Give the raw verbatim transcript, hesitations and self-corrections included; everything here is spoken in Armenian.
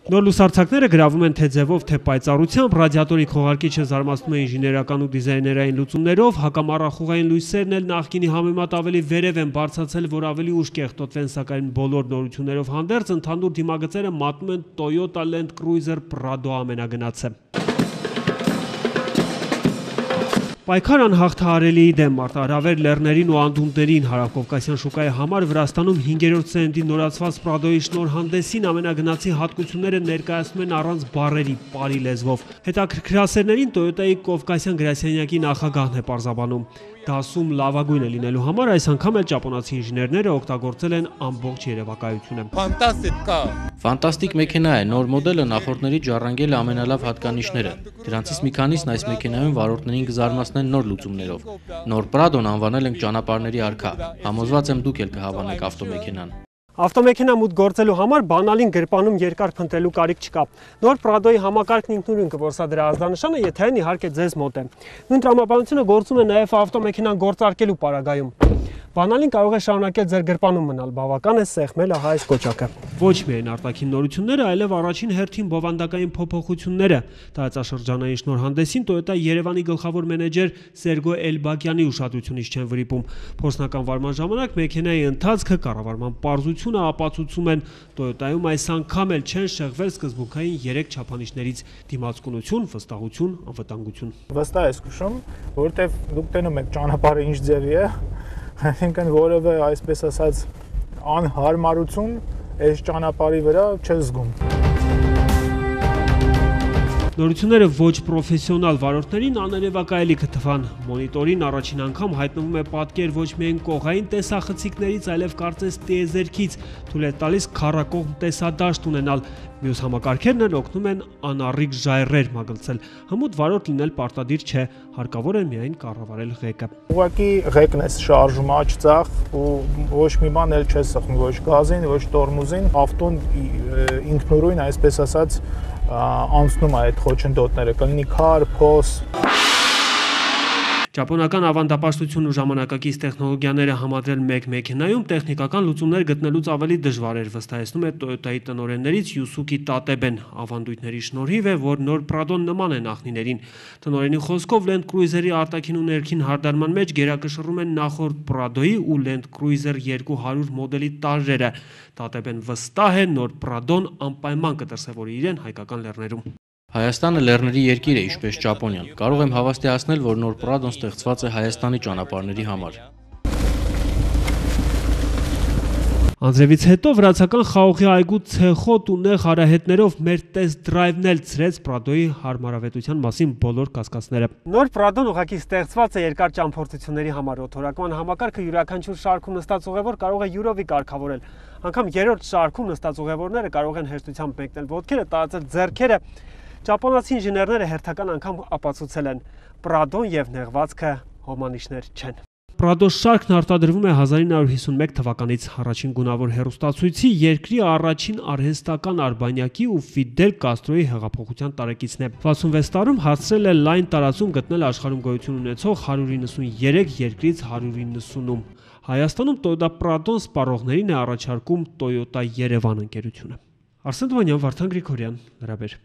Նոր լուսարձակները գրավում են թե ձևով, թե պայծառությամբ, ռադիատորի քողարկիչը զարմացնում է ինժեներական ու դիզայներային լուծումներով, հակամառախուղային լույսերն էլ նախկինի համեմատ ավելի վերև են բարձրացել, որ ավելի ուշ կեղտոտվեն, սակայն բոլոր նորություններով հանդերձ ընդհանուր դիմագծերը մատնում են Toyota Land Cruiser Prado ամենագնացը։ Պայքար անհաղթահարելիի դեմ մարտահրավեր լեռներին ու անդունդներին հարավկովկասյան շուկայի համար Վրաստանում հինգերորդ սերնդի նորացված Պրադոյի շնորհանդեսին ամենագնացի հատկությունները ներկայացնում են առանց բառերի պարի լեզվով։ Հետաքրքրասերներին Toyota-ի կովկասյան գրասենյակի նախագահն է պարզաբանում։ Դասում լավագույնը լինելու համար այս անգամ էլ ճապոնացի ինժեներները օգտագործել են ամբողջ երևակայությունը։ Ֆանտաստիկ մեքենա է, նոր մոդելը նախորդների ժառանգել է ամենալավ հատկանիշները։ Դրանցից մի քանիսն այս մեքենայում վարորդներին կզարմացնեն նոր լուծումներով։ Նոր Պրադոն անվանել ենք ճանապարհների արքա։ Համոզված եմ դուք էլ կհավանեք ավտոմեքենան։ Ավտոմեքենա մուտք գործելու համար բանալին գրպանում երկար փնտրելու կարիք չկա։ Նոր Պրադոյի համակարգն ինքնուրույն կորսադրի ազդանշանը, եթե այն իհարկե ձեզ մոտ է։ Նույն տրամաբանությունը գործում է նաև ավտոմեքենան գործարկելու պարագայում։ Բանալին կարող է շարունակել ձեր գրպանում մնալ, բավական է սեղմել այս կոճակը։ Ոչ միայն արտաքին նորությունները, այլև առաջին հերթին բովանդակային փոփոխությունները։ Տարածաշրջանային շնորհանդեսին Toyota Երևանի գլխավոր մենեջեր Սերգո Էլբակյանի ուշադրությունից չեն վրիպում։ Փորձնական վարման ժամանակ մեքենայի ընթացքը, կառավարման պարզությունը ապացուցում են, Toyota-ում այս անգամ էլ չեն շեղվել սկզբունքային երեք չափանիշներից՝ դիմացկունություն, վստահություն, անվտանգություն։ Վստահ ես քշում, որովհետև դուք տենում եք ճանապարհը ինչ ձևի է, այսինքն որևէ այսպես ասած անհարմարություն այս ճանապարհի վրա չես զգում։ Նորությունները ոչ պրոֆեսիոնալ վարորդներին աներևակայելի կթվան։ Մոնիտորին առաջին անգամ հայտնվում է պատկեր ոչ միայն կողային տեսախցիկներից, այլև կարծես տիեզերքից, թույլ է տալիս քառակողմ տեսադաշտ ունենալ։ Մյուս համակարգերն էլ օգնում են անառիկ ժայռեր մագլցել։ Հմուտ վարորդ լինել պարտադիր չէ, հարկավոր է միայն կառավարել ղեկը։ Ուղղակի ղեկն է շարժում աջ ցախ ու ոչ մի բան էլ չես սխում, ոչ գազին, ոչ տորմուզին, ավտոն ինքնուրույն այսպես ասած անցնում է այդ խոչընդոտները, կլինի քար, փոս։ Ճապոնական ավանդապաշտություն ու ժամանակակից տեխնոլոգիաները համադրել մեկ մեքենայում տեխնիկական լուծումներ գտնելուց ավելի դժվար էր, վստահեցնում է Toyota-ի տնօրեններից Յուսուկի Տատեբեն։ Ավանդույթների շնորհիվ է, որ նոր Պրադոն նման է նախնիներին։ Տնօրենի խոսքով Land Cruiser-ի արտաքին ու ներքին հարդարման մեջ գերակշռում են նախորդ Պրադոյի ու Land Cruiser երկու հարյուր մոդելի տարրերը։ Տատեբեն վստահ է, նոր Պրադոն անպայման կդրսևորի իրեն հայկական լեռներում։ Հայաստանը լեռների երկիր է, ինչպես Ճապոնիան։ Կարող եմ հավաստիացնել, որ նոր Պրադոն ստեղծված է Հայաստանի ճանապարհների համար։ Անձրևից հետո վրացական խաղողի այգու ցեխոտ ու նեղ արահետներով մեր տեստ դրայվն էլ ցրեց Պրադոյի հարմարավետության մասին բոլոր կասկածները։ Նոր Պրադոն ուղղակի ստեղծված է երկար ճամփորդությունների համար։ Օթորակման համակարգը յուրաքանչյուր շարքում նստած ուղևոր կարող է յուրովի կարգավորել։ Անգամ երրորդ շարքում նստած ուղևորները կարող են հեշտությամբ մեկնել ոտքերը, տարածել ձեռքերը։ Ճապոնացի ինժեներները հերթական անգամ ապացուցել են, Պրադոն եւ նեղվածքը հոմանիշներ չեն։ Պրադո շարքն արտադրվում է հազար ինը հարյուր հիսունմեկ թվականից, առաջին գունավոր հեռուստացույցի երկրի առաջին արհեստական արբանյակի ու Ֆիդել Կաստրոյի հեղափոխության տարեկիցն է։ վաթսունվեց տարում հասցրել է լայն տարածում գտնել աշխարհում գոյություն ունեցող հարյուր իննսուներեք երկրից հարյուր իննսունում։ Հայաստանում Toyota Պրադոն սպառողներին է առաջարկում Toyota Երևան ընկերությունը։ Արսեն Դվանյան, Վարդան Գրիգորյան, Լրաբեր։